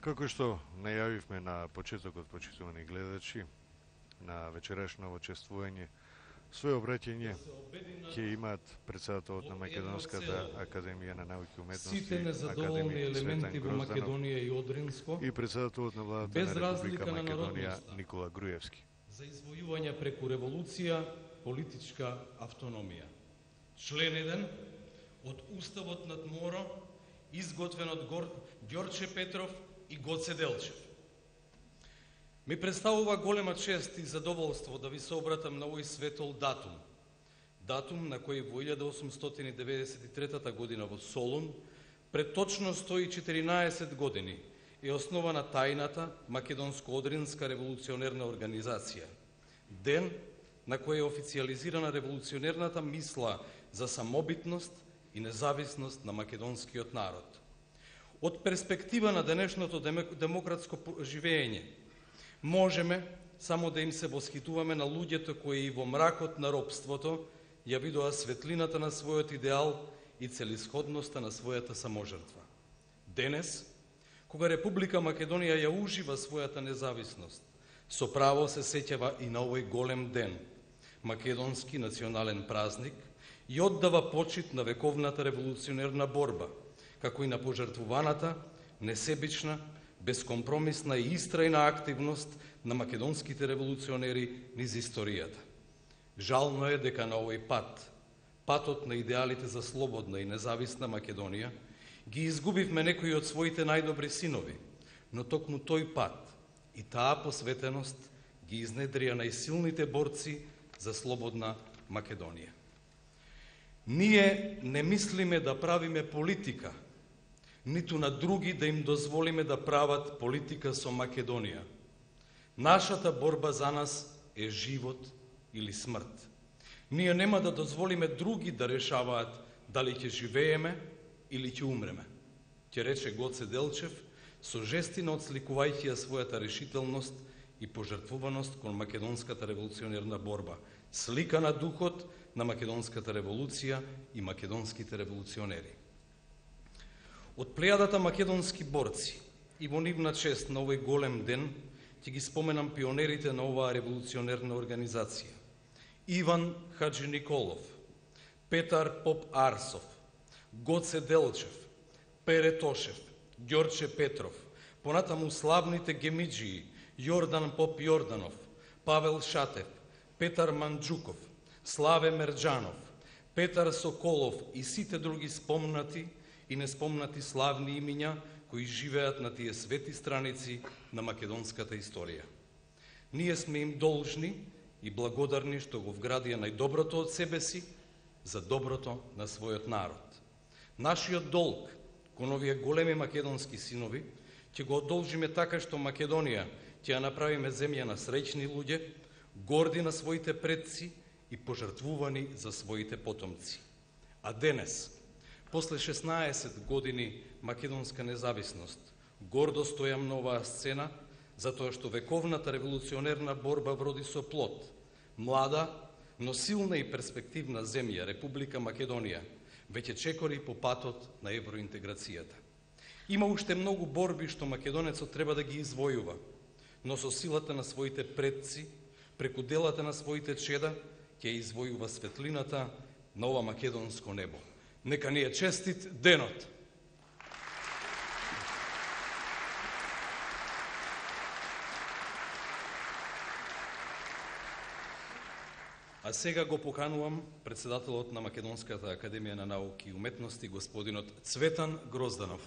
Како што најавивме на почетокот, почитувани гледачи, на вечерашно чествување, своје обраќање ќе имаат председателот на Македонската академија на науки и уметности, академик Цветан Грозданов, и председателот на владата на Република Македонија Никола Груевски. За извојување преку револуција политичка автономија. Член 1 од Уставот над Моро, изготвен од Ѓорче Петров и Гоце Делчев. Ми представува голема чест и задоволство да ви се обратам на овој светол датум. Датум на кој во 1893 година во Солун, пред точно 114 години, е основана тајната Македонско-Одринска револуционерна организација. Ден на кој е официализирана револуционерната мисла за самобитност и независност на македонскиот народ. Од перспектива на денешното демократско живење, можеме само да им се восхитуваме на луѓето кои и во мракот на робството ја видоа светлината на својот идеал и целисходноста на својата саможртва. Денес, кога Република Македонија ја ужива својата независност, со право се сеќава и на овој голем ден, македонски национален празник, и оддава почит на вековната револуционерна борба, како и на пожртвуваната, несебична, безкомпромисна и истрајна активност на македонските револуционери низ историјата. Жално е дека на овој пат, патот на идеалите за слободна и независна Македонија, ги изгубивме некои од своите најдобри синови, но токму тој пат и таа посветеност ги изнедрија најсилните борци за слободна Македонија. Ние не мислиме да правиме политика, ниту на други да им дозволиме да прават политика со Македонија. Нашата борба за нас е живот или смрт. Ние нема да дозволиме други да решаваат дали ќе живееме или ќе умреме, ќе рече Гоце Делчев, со жестина отсликувајќи ја својата решителност и пожртвуваност кон македонската револуционерна борба, слика на духот на македонската револуција и македонските револуционери. Од плејадата македонски борци и во нивна чест на овој голем ден ќе ги споменам пионерите на оваа револуционерна организација. Иван Хаджи Николов, Петар Поп Арсов, Гоце Делчев, Пере Тошев, Ѓорче Петров, понатаму славните гемиџии Јордан Поп Јорданов, Павел Шатев, Петар Манџуков, Славе Мерџанов, Петар Соколов и сите други спомнати и неспомнати славни имиња кои живеат на тие свети страници на македонската историја. Ние сме им должни и благодарни што го вградија најдоброто од себе си за доброто на својот народ. Нашиот долг кон овие големи македонски синови ќе го одолжиме така што Македонија ќе ја направиме земја на среќни луѓе, горди на своите предци и пожртвувани за своите потомци. А денес, после 16 години македонска независност, гордо стојам на оваа сцена, затоа што вековната револуционерна борба вроди со плод. Млада, но силна и перспективна земја, Република Македонија, веќе чекори по патот на евроинтеграцијата. Има уште многу борби што македонецот треба да ги извојува, но со силата на своите предци, преку делата на своите чеда, ќе извојува светлината на ова македонско небо. Нека ни е честит денот! А сега го поканувам председателот на Македонската академија на науки и уметности, господинот Цветан Грозданов.